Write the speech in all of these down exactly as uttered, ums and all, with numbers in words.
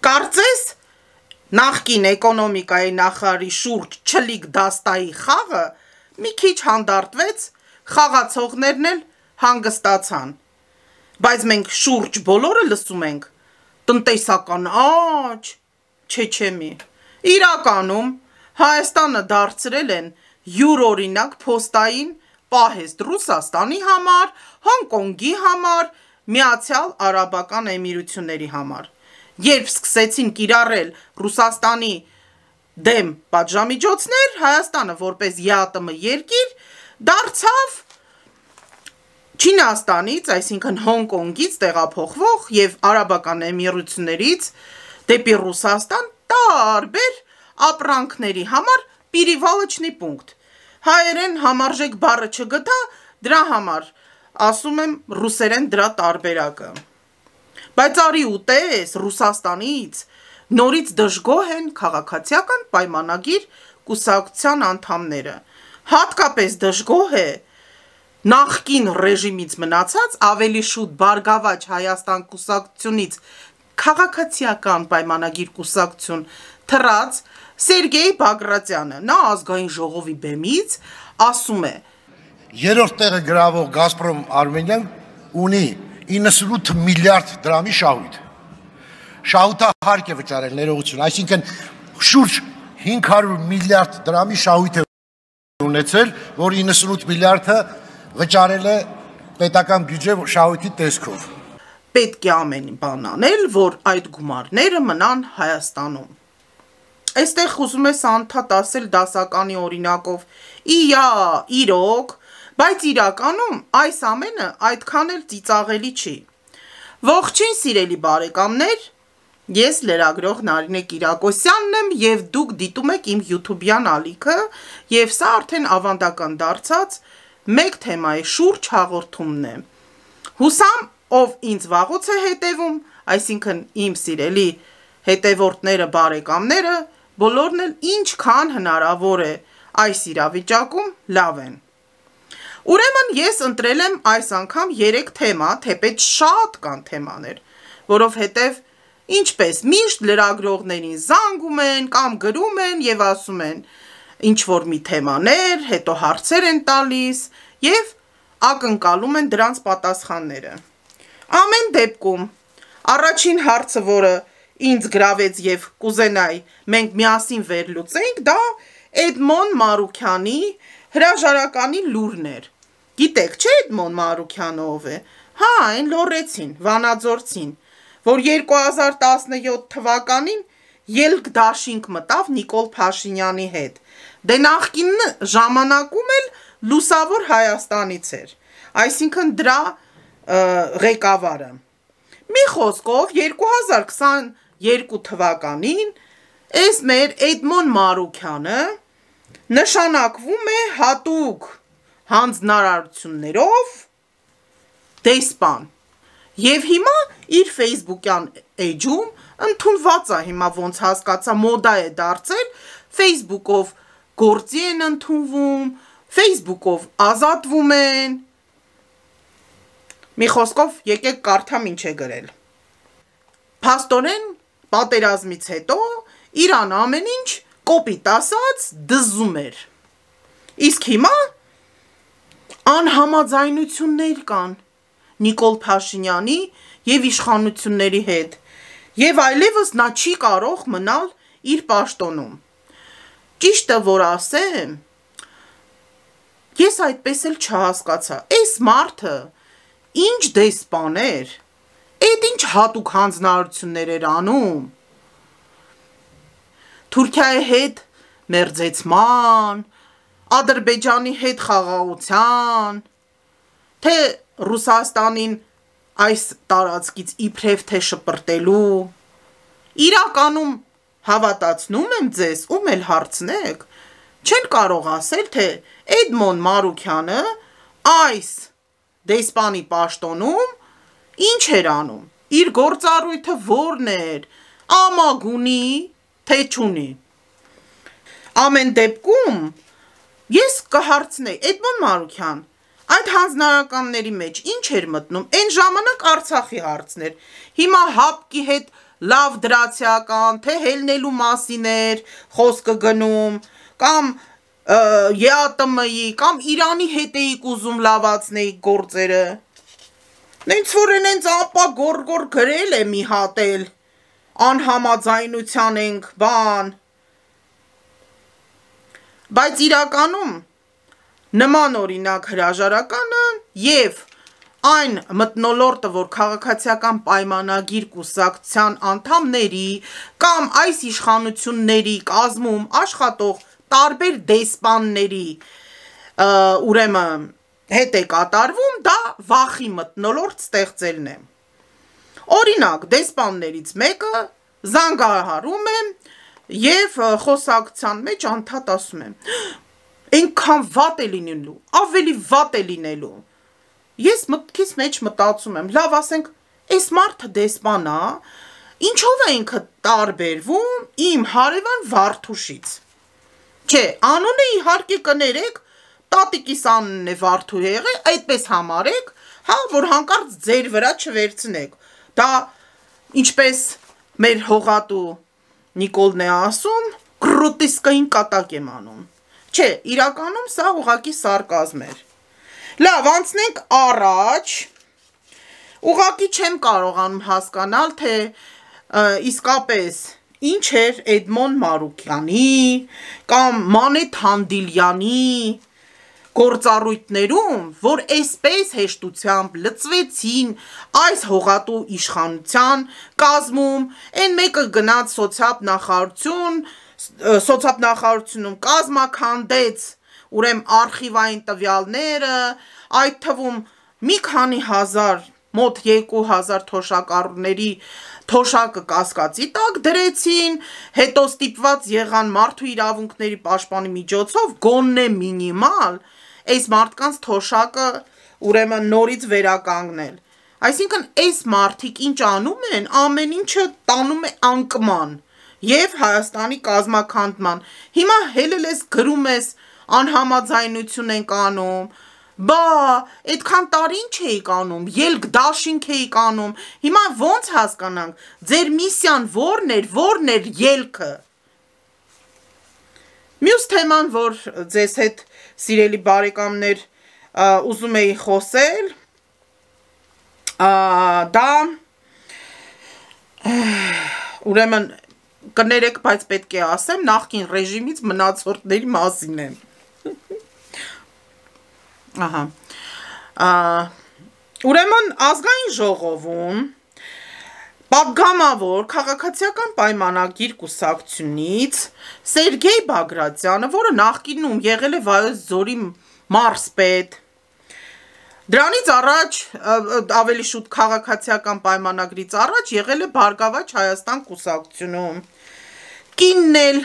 Կարծես նախկին էկոնոմիկայի նախարարի շուրջ չլիկ դաստայի խաղը մի քիչ հանդարտվեց, խաղացողներն էլ հանգստացան, բայց մենք շուրջ բոլորը լսում ենք տնտեսական աճ, չեչեմի, իրականում Հայաստանը դարձրել են յուրօրինակ փոստային պահեստ Ռուսաստանի համար, Հոնկոնգի համար, Միացյալ Արաբական Էմիրությունների համար, երբ սկսեցին կիրառել Ռուսաստանի դեմ պատժամիջոցներ, Հայաստանը որպես ԵԱՏՄ երկիր դարձավ Չինաստանից, այսինքն Հոնկոնգից տեղափոխվող և Արաբական Էմիրություններից դեպի Ռուսաստան տարբեր ապրանքների համար պիրիվալչնի պունկտ, հայերեն համարժեք բառը չգտա, դրա համար ասում եմ ռուսերեն դրա տարբերակը, բայց արի ու տես Ռուսաստանից նորից դժգոհ են քաղաքացիական պայմանագիր կուսակցության անդամները, հատկապես դժգոհ է նախկին ռեժիմից մնացած ավելի շուտ Բարգավաճ Հայաստան կուսակցությունից քաղաքացիական պայմանագիր կուսակցություն թռած Սերգեյ Բագրատյանը, նա ազգային ժողովի բեմից ասում է. Երրորդ տեղը գրավող Գազպրոմ Արմենիան ունի իննսունութ միլիարդ դրամի շահույթ։ Շահույթը հարկ է վճարել ներողություն, այսինքն շուրջ հինգ հարյուր միլիարդ դրամի շահույթ է ունեցել, որ իննսունութ միլիարդը վճարել է պետական բյուջե շահույթի տեսքով։ Պետք է ամեն բան անել, որ այդ գումարները մնան Հայաստանում։ Այստեղ ուզում ես անդադ ասել դասականի օրինակով, իա, իրոք, բայց իրականում այս ամենը այդքան էլ ծիծաղելի չի։ Ողջույն սիրելի բարեկամներ, ես լրագրող Նարինե Կիրակոսյանն եմ և դուք դիտում եք իմ յութուբյան ալիքը և սա արդեն ավանդական դարձած մեկ թեմայի շուրջ հաղորդումն է։ Հուսամ, ով ինձ վաղուց է հետևում, այսինքն իմ սիրելի հետևորդները, բարեկամները, բոլորն էլ ինչքան հնարավոր է այս իրավիճակում լավ են։ Ուրեմն ես ընտրել եմ այս անգամ երեք թեմա, թեպետ շատ կան թեմաներ, որովհետև ինչպես միշտ լրագրողներին զանգում են կամ գրում են և ասում են ինչ-որ մի թեմաներ, հետո հարցեր են տալիս և ակնկալում են դրանց պատասխանները։ Ամեն դեպքում, առաջին հարցը, որը ինձ գրավեց և կուզենայի մենք միասին վերլուծենք, դա Էդմոն Մարուքյանի հրաժարականի լուրն էր։ Գիտեք, չէ Էդմոն Մարուքյանը ով է։ Հա, այն լոռեցին, վանաձորցին, որ երկու հազար տասնյոթ թվականին ելք դաշինք մտավ Նիկոլ Փաշինյանի հետ։ Դե նախկին ժամանակում էլ լուսավոր Հայաստանից էր, այսինքն դրա ղեկավարը։ Մի խոսքով երկու հազար քսաներկու թվականին այս մեր Էդմոն Մարուքյանը նշանակվում է հատուկ հանձնարարություններով դեսպան և հիմա իր ֆեյսբուքյան էջում ընդունված է, հիմա ոնց հասկացա մոդա է դարձել, ֆեյսբուքով գործի են ընդունվում, ֆեյսբուքով ազատվում են, մի խոսքով եկեք կարդամ ինչ է գրել։ Փաստորեն պատերազմից հետո Իրան ամեն ինչ կոպիտ ասած դզում էր։ Իսկ հիմա անհամաձայնություններ կան Նիկոլ Փաշինյանի և իշխանությունների հետ և այլևս նա չի կարող մնալ իր պաշտոնում։ Ճիշտը որ ասեմ, ես այդպես էլ չհասկացա, այս մարդը ինչ դեսպան էր, էդ ինչ հատուկ հանձնարարություններ էր անում, Թուրքիայի հետ մերձեցման, Ադրբեջանի հետ խաղաղության, թե Ռուսաստանին այս տարածքից իբրև թե շպրտելու, իրականում հավատացնում եմ ձեզ, ում էլ հարցնեք, չեն կարող ասել, թե Էդմոն Մարուքյանը այս դեսպանի պաշտոնում ինչ էր անում, իր գործառույթը որն էր, ամագունի, թե չունի։ Ամեն դեպքում ես կհարցնեի, Էդմոն Մարուքյան, այդ հանձնարարականների մեջ ինչ էր մտնում, այն ժամանակ Արցախի հարցն էր, հիմա ՀԱՊԿ-ի հետ լավ դրացիական, թե հելնելու մասին էր խոսքը գնում, կամ Է Ա Տը Մը-ի, կամ Իրանի հետ էիք ուզում լավացնեիք գործերը։ Նենց որ են ապա գոր-գոր գրել է մի հատ էլ, անհամաձայնության ենք, բան։ Բայց իրականում նման օրինակ հրաժարականը և այն մթնոլորտը, որ քաղաքացիական պայմանագիր կուսակցության անդամների կամ այս իշխանությունների կազմում աշխատող տարբեր դեսպանների ուրեմն հետ է կատարվում, դա վախի մթնոլորտ ստեղծելն է։ Օրինակ, դեսպաններից մեկը զանգահարում է և խոսակցության մեջ անդադ ասում է. «Այնքան վատ է լինելու, ավելի վատ է լինելու»։ Ես մտքիս մեջ մտածում եմ, լավ ասենք, այս մարդը դեսպան է, ինչով է ինքը տարբերվում իմ հարևան Վարդուշից։ Չէ, անունը իհարկե կներեք, տատիկիս անունն է Վարդու եղել, այդպես համարեք, հա, որ հանկարծ ձեր վրա չվերցնեք։ Դա ինչպես մեր հողատու Նիկոլն է ասում, կրոտիսկային կատակ եմ անում։ Չէ, իրականում սա ուղղակի սարկազմ էր։ Լավ, անցնենք առաջ, ուղղակի չեմ կարողանում հասկանալ, թե իսկապես ինչ էր Էդմոն Մարուկյանի կամ Մանե Թանդիլյանի գործառույթներում, որ այսպես հեշտությամբ լծվեցին այս հողատու իշխանության կազմում, այն մեկը գնաց սոցիալ նախարարությունում կազմաքանդեց ուրեմն արխիվային տվյալները, այդ թվում մի քանի հազար, մոտ երկու հազար թոշակառուների թոշակը կասկածի տակ դրեցին, հետո ստիպված եղան մարդու իրավունքների պաշտպանի միջոցով գոնե մինիմալ այս մարդկանց թոշակը ուրեմն նորից վերականգնել։ Այսինքն այս մարդիկ ինչ անում են, ամեն ինչը տանում է անկման և Հայաստանի կազմաքանդման։ Հիմա հելել ես գրում ես անհամաձայնություն ենք անում, բա այդքան տարի ինչ էիք անում, ելք դաշինք էիք անում, հիմա ոնց հասկանանք, ձեր միսիան որն էր, որն էր ելքը։ Մյուս թեման, որ ձեզ հետ սիրելի բարեկամներ ուզում էի խոսել, դա ուրեմն կներեք, բայց պետք է ասեմ, նախկին ռեժիմից մնացորդների մասին է։ Ահա։ Ուրեմն ազգային ժողովում պատգամավոր քաղաքացիական պայմանագիր կուսակցությունից Սերգեյ Բագրատյանը, որը նախկինում եղել է Վայոց Ձորի մարզպետ, դրանից առաջ ավելի շուտ քաղաքացիական պայմանագրից առաջ եղել է Բարգավաճ Հայաստան կուսակցությունում, կինն էլ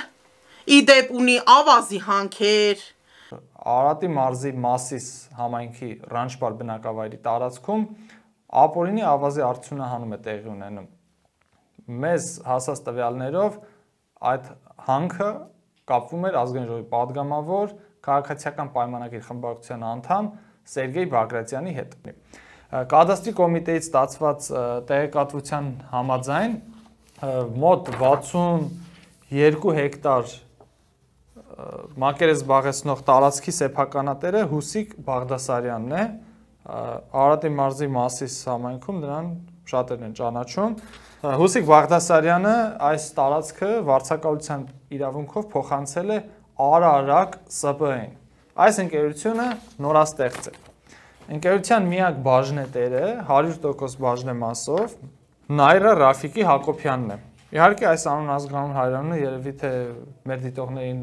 իդեպ ունի ավազի հանքեր։ Արարատի մարզի Մասիս համայնքի Ռանչպար բնակավայրի տարածքում ապօրինի ավազի արդյունահանում է տեղի ունենում։ Մեզ հասած տվյալներով այդ հանքը կապվում էր ազգային ժողովի պատգամավոր քաղաքացիական պայմանագիր խմբակցության անդամ Սերգեյ Բագրատյանի հետ։ Կադաստրի կոմիտեից ստացված տեղեկատվության համաձայն մոտ վաթսունյոթ հեկտար մակերես զբաղեցնող տարածքի սեփականատերը Հուսիկ Բաղդասարյանն է, Արարատի մարզի Մասիս համայնքում նրան շատերն են ճանաչում։ Հուսիկ Բաղդասարյանը այս տարածքը վարձակալության իրավունքով փոխանցել է Արարակ Ս Բ Ն։ Այս ընկերությունը նորաստեղծ է։ Ընկերության միակ բաժնետերը հարյուր տոկոս բաժնեմասով Նայրա Ռաֆիկի Հակոբյանն է։ Իհարկե այս անուն ազգանուն հայրենը երևի թե մեր դիտողներին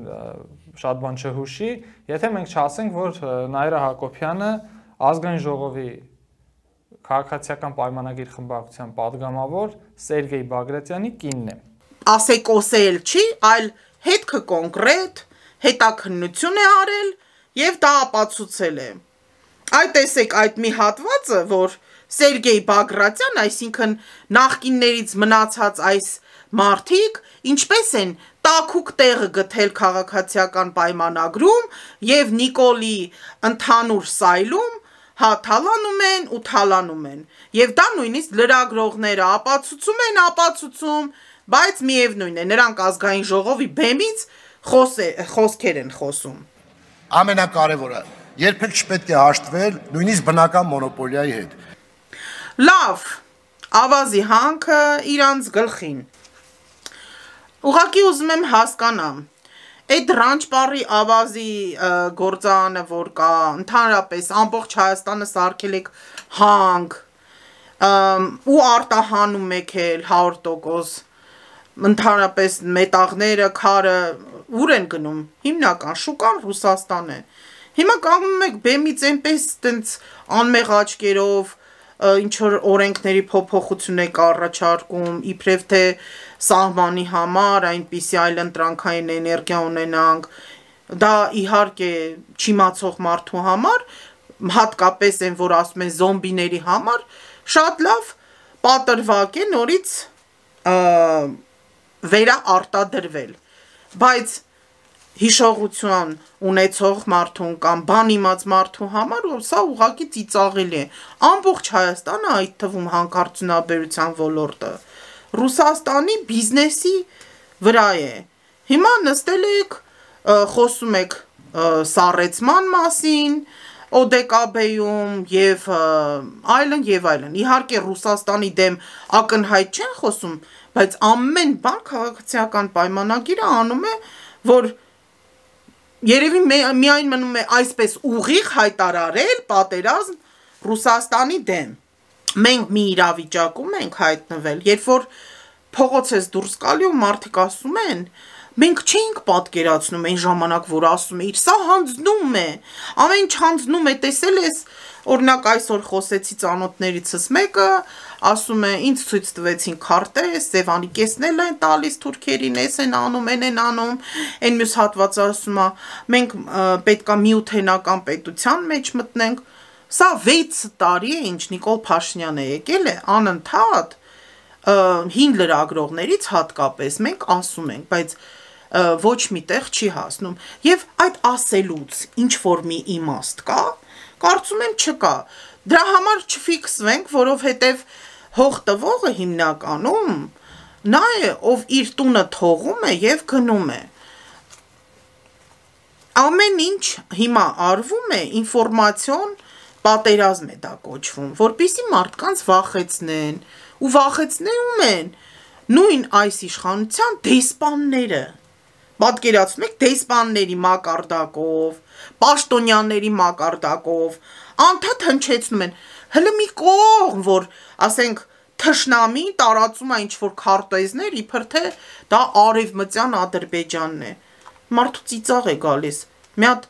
շատ բան չհուշի, եթե մենք չասենք, որ Նայրա Հակոբյանը ազգային ժողովի քաղաքացիական պայմանագիր խմբակցության պատգամավոր Սերգեյ Բագրատյանի կինն է։ Ասեկոսել չի, այլ հետքը կոնկրետ հետաքննություն է արել եւ դա ապացուցել է։ Այդ տեսեք այդ մի հատվածը, որ Սերգեյ Բագրատյան, այսինքն նախկիններից մնացած այս մարդիկ ինչպես են տաքուկ տեղը գտել քաղաքացիական պայմանագրում եւ Նիկոլի ընդհանուր սայլում հա թալանում են ու թալանում են։ Եվ դա նույնիսկ լրագրողները ապացուցում են, ապացուցում, բայց միևնույն է, նրանք ազգային ժողովի բեմից խոսքեր են խոսում։ Ամենակարևորը, երբեք չպետք է հաշտվել նույնիսկ բնական մոնոպոլիայի հետ։ Լավ, ավազի հանքը իրանց գլխին։ Ուղղակի ուզում եմ հասկանամ, այդ Ռանչպարի ավազի գործարանը, որ կա, ընդհանրապես ամբողջ Հայաստանը սարքել եք հանք, ու արտահանում եք էլ հարյուր տոկոս, ընդհանրապես մետաղները, քարը, ուր են գնում, հիմնական շուկան Ռուսաստան է։ Հիմա կանգնում եք բեմից այնպես տենց անմեղ աչքերով, ինչ որ օրենքների փոփոխություն եք առաջարկում, իբրև թե սահմանի համար, այնպիսի այլընտրանքային էներգիա ունենանք, դա իհարկե չիմացող մարդու համար, հատկապես այն, որ ասում են զոմբիների համար, շատ լավ պատրվակ է նորից վերաարտադրվել, բայց հիշողություն ունեցող մարդուն կամ բան իմաց մարդու համար սա ուղղակի ծիծաղելի է։ Ամբողջ Հայաստանը, այդ թվում հանքարդյունաբերության ոլորտը, Ռուսաստանի բիզնեսի վրա է։ Հիմա նստել եք, խոսում եք սառեցման մասին, Օ Դե Կա Բեյում եւ այլն եւ այլն։ Իհարկե Ռուսաստանի դեմ ակնհայտ չեն խոսում, բայց ամեն բան քաղաքացիական պայմանագիրը անում է, որ երևի միայն մնում է այսպես ուղիղ հայտարարել պատերազմ Ռուսաստանի դեմ։ Մենք մի իրավիճակում ենք հայտնվել, երբ որ փողոց ես դուրս գալի ու մարդիկ ասում են, մենք չէինք պատկերացնում այն ժամանակ, որ ասում էիր, սա հանձնում է, ամեն ինչ հանձնում է, տեսել ես, օրինակ այսօր խոսեցի ծանոթներիցս մեկը, ասում է, ինձ ցույց տվեցին քարտեզ, Սևանի կեսնել են տալիս թուրքերին, էս են անում, են են անում, այն մյուս հատվածը ասում է, մենք պետքա միութենական պետության մեջ մտնենք, սա վեց տարի է, ինչ Նիկոլ Փաշինյանը եկել է, անընդհատ հին լրագրողներից հատկապես մենք ասում ենք, բայց ոչ միտեղ չի հասնում, և այդ ասելուց ինչ-որ մի իմաստ կա, կարծում եմ չկա, դրա համար չֆիքսվենք, որովհետև հող տվողը հիմնականում նա է, ով իր տունը թողում է և գնում է, ամեն ինչ հիմա արվում է, ինֆորմացիոն պատերազմ է դա կոչվում, որպեսզի մարդկանց վախեցնեն, ու վախեցնում են նույն այս իշխանության դեսպանները, պատկերացնում եք դեսպանների մակարդակով, պաշտոնյաների մակարդակով, անդադ հնչեցնում են, հլը մի կողմ, որ ասենք թշնամի տարածում է ինչ-որ քարտեզներ, իբր թե դա արևմտյան Ադրբեջանն է, մարդու ծիծաղ է գալիս, մի հատ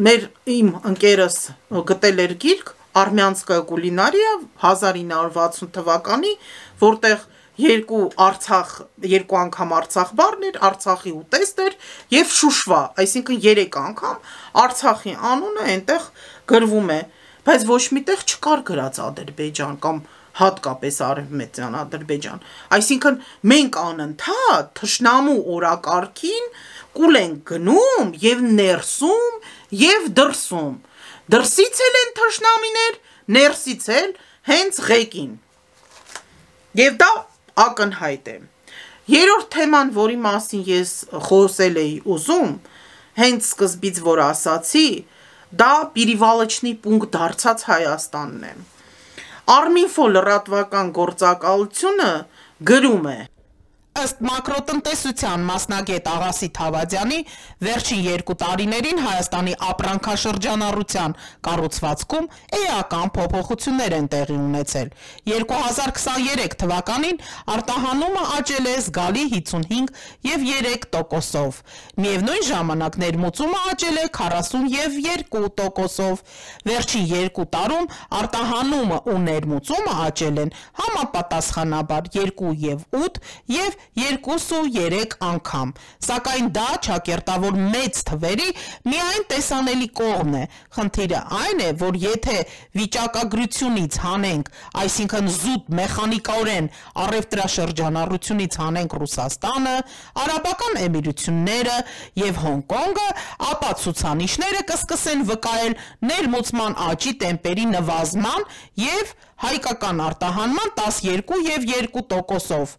մեր իմ ընկերս գտել էր գիրք, Արմյանսկա կուլինարիա հազար ինը հարյուր վաթսուն թվականի, որտեղ երկու Արցախ, երկու անգամ Արցախ բառն էր, Արցախի ուտեստ էր եւ Շուշվա, այսինքն երեք անգամ Արցախի անունը այնտեղ գրվում է, բայց ոչ միտեղ չկար գրած Ադրբեջան կամ հատկապես արևմտյան Ադրբեջան, այսինքն մենք անընդհատ թշնամու օրակարգին կուլ ենք գնում եւ ներսում եւ դրսում, դրսից էլ են թշնամիներ, ներսից էլ հենց ղեկին, եւ դա ակնհայտ է, երրորդ թեման, որի մասին ես խոսել էի ուզում, հենց սկզբից որ ասացի, դա Պիրիվալեչնի պունկտ դարձած Հայաստանն է, Արմինֆո լրատվական գործակալությունը գրում է, ըստ մակրոտնտեսության մասնագետ Աղասիթ Հավադյանի, վերջին երկու տարիներին Հայաստանի ապրանքաշրջանառության կառուցվածքում էական փոփոխություններ են տեղի ունեցել։ երկու հազար քսաներեք թվականին արտահանումը աճել է զգալի հիջսունհինգ եւ երեք տոկոսով։ Միևնույն ժամանակ ներմուծումը աճել է քառասուն եւ երկու տոկոսով։ Վերջին երկու տարում արտահանումը ու ներմուծումը աճել են համապատասխանաբար երկու եւ ութ եւ երկուսուերեք անգամ, սակայն դա ճակերտավոր մեծ թվերի միայն տեսանելի կողմն է, խնդիրը այն է, որ եթե վիճակագրությունից հանենք, այսինքն զուտ մեխանիկորեն առևտրաշրջանառությունից հանենք Ռուսաստանը, Արաբական Էմիրությունները և Հոնկոնգը, ապա ցուցանիշները կսկսեն վկայել ներմուծման աճի տեմպերի նվազման և հայկական արտահանման տասներկու և երկու տոկոսով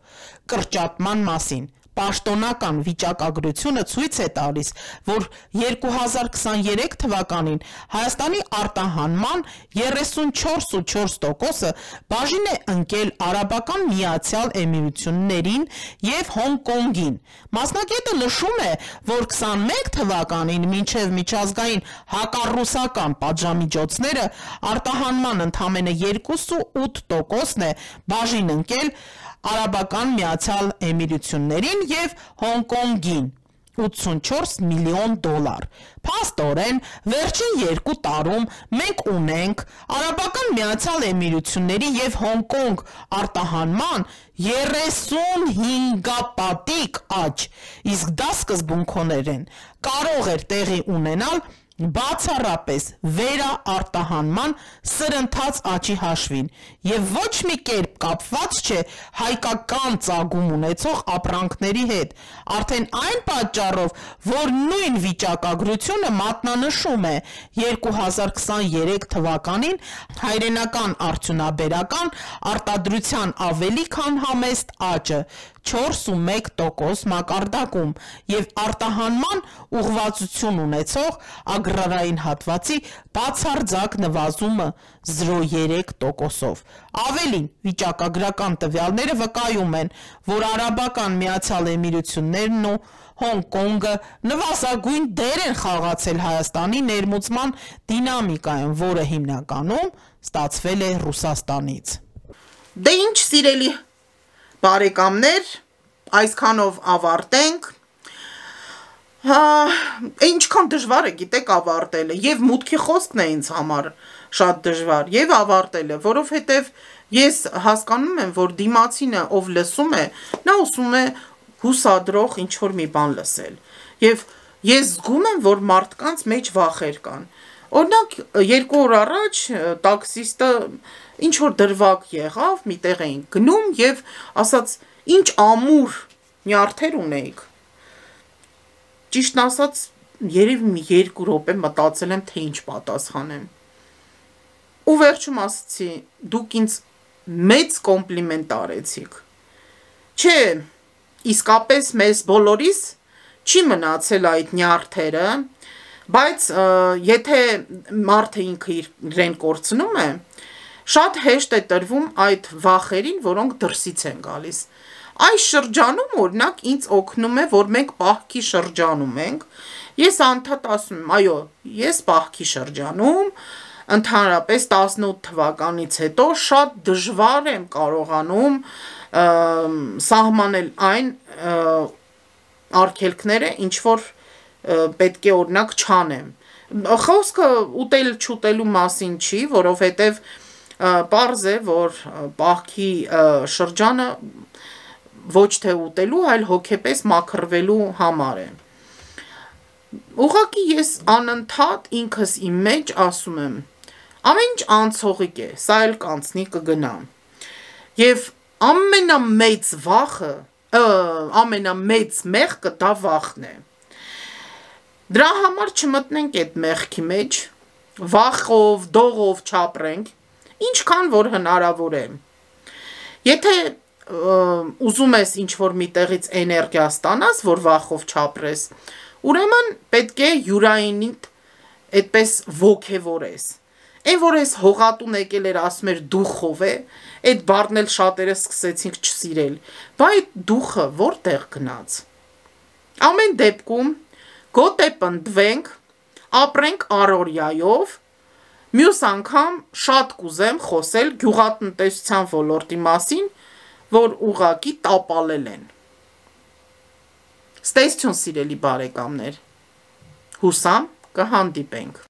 կրճատման մասին։ Պաշտոնական վիճակագրությունը ցույց է տալիս, որ երկու հազար քսաներեք թվականին Հայաստանի արտահանման երեսունչորս տոկոսը բաժին է ընկել Արաբական Միացյալ Էմիրություններին և Հոնկոնգին։ Մասնագետը նշում է, որ քսանմեկ թվականին մինչև միջազգային հակառուսական պատժամիջոցները արտահանման ընդամենը երկուսուութ տոկոսն է բաժին ընկել Արաբական Միացյալ Էմիրություններին և Հոնկոնգին՝ ութսունչորս միլիոն դոլար։ Փաստորեն, վերջին երկու տարում մենք ունենք Արաբական Միացյալ Էմիրությունների և Հոնկոնգ արտահանման երեսունհինգապատիկ աճ, իսկ դա սկզբունքորեն կարող էր տեղի ունենալ բացառապես վերաարտահանման սրընթաց աճի հաշվին և ոչ մի կերպ կապված չէ հայկական ծագում ունեցող ապրանքների հետ, արդեն այն պատճառով, որ նույն վիճակագրությունը մատնանշում է երկու հազար քսաներեք թվականին հայրենական արդյունաբերական արտադրության ավելի քան համեստ աճը չորսումեկ տոկոս մակարդակում և արտահանման ուղղվածություն ունեցող agrarային հատվածի բացարձակ նվազումը զրոյերեք տոկոսով։ Ավելին, վիճակագրական տվյալները վկայում են, որ Արաբական Միացյալ Էմիրություններն ու Հոնկոնգը նվազագույն դեր են խաղացել Հայաստանի ներմուծման դինամիկայում, որը հիմնականում ստացվել է Ռուսաստանից։ Դե ինչ սիրելի բարեկամներ, այսքանով ավարտենք։ Հա, ինչքան դժվար է, գիտեք, ավարտելը, եւ մուտքի խոսքն է ինձ համար շատ դժվար, եւ ավարտելը, որովհետեւ ես հասկանում եմ, որ դիմացինը, ով լսում է, նա ուզում է հուսադրող ինչ-որ մի բան լսել, եւ ես զգում եմ, որ մարդկանց մեջ վախեր կան։ Օրինակ, երկու օր առաջ տաքսիստը ինչ-որ դրվագ եղավ, միտեղ էին գնում եւ ասաց, ինչ ամուր նյարդեր ունեիք։ Ճիշտն ասած, երևի մի երկու րոպե մտածել եմ, թե ինչ պատասխանեմ։ Ու վերջում ասացի, դուք ինձ մեծ կոմպլիմենտ արեցիք։ Չէ, իսկապես մեզ բոլորիս չի մնացել այդ նյարդերը, բայց եթե մարդը ինքը իրեն կորցնում է, շատ հեշտ է տրվում այդ վախերին, որոնք դրսից են գալիս։ Այս շրջանում, օրինակ, ինձ օգնում է, որ մենք պահքի շրջանում ենք, ես անդադ ասում եմ, այո, ես պահքի շրջանում, ընդհանրապես տասնութ թվականից հետո շատ դժվար եմ կարողանում սահմանել այն արգելքները, ինչ որ պետք է օրինակ չանեմ։ Խոսքը ուտել չուտելու մասին չի, որովհետև պարզ է, որ պահքի շրջանը ոչ թե ուտելու, այլ հոգեպես մաքրվելու համար է։ Ուղղակի ես անընդհատ ինքս իմ մեջ ասում եմ, ամեն ինչ անցողիկ է, սա էլ կանցնի կգնա։ Եվ ամենամեծ վախը, ամենամեծ մեղքը դա վախն է։ Դրա համար չմտնենք այդ մեղքի մեջ, վախով, դողով չապրենք, ինչքան որ հնարավոր է։ Եթե ուզում ես ինչ-որ մի տեղից էներգիա ստանաս, որ վախով չապրես, ուրեմն պետք է յուրայինիդ այդպես ոգևորես։ Այն որ ես հողատուն եկել էր ասում էր դուխով է, այդ բառն էլ շատերը սկսեցինք չսիրել, բայց այդ դուխը որտեղ գնաց։ Ամեն դեպքում գոտե պնդվենք, ապրենք առօրյայով, մյուս անգամ շատ կուզեմ խոսել գյուղատնտեսության ոլորտի մասին, որ ուղղակի տապալել են։ Ստեսություն սիրելի բարեկամներ, հուսամ կհանդիպենք։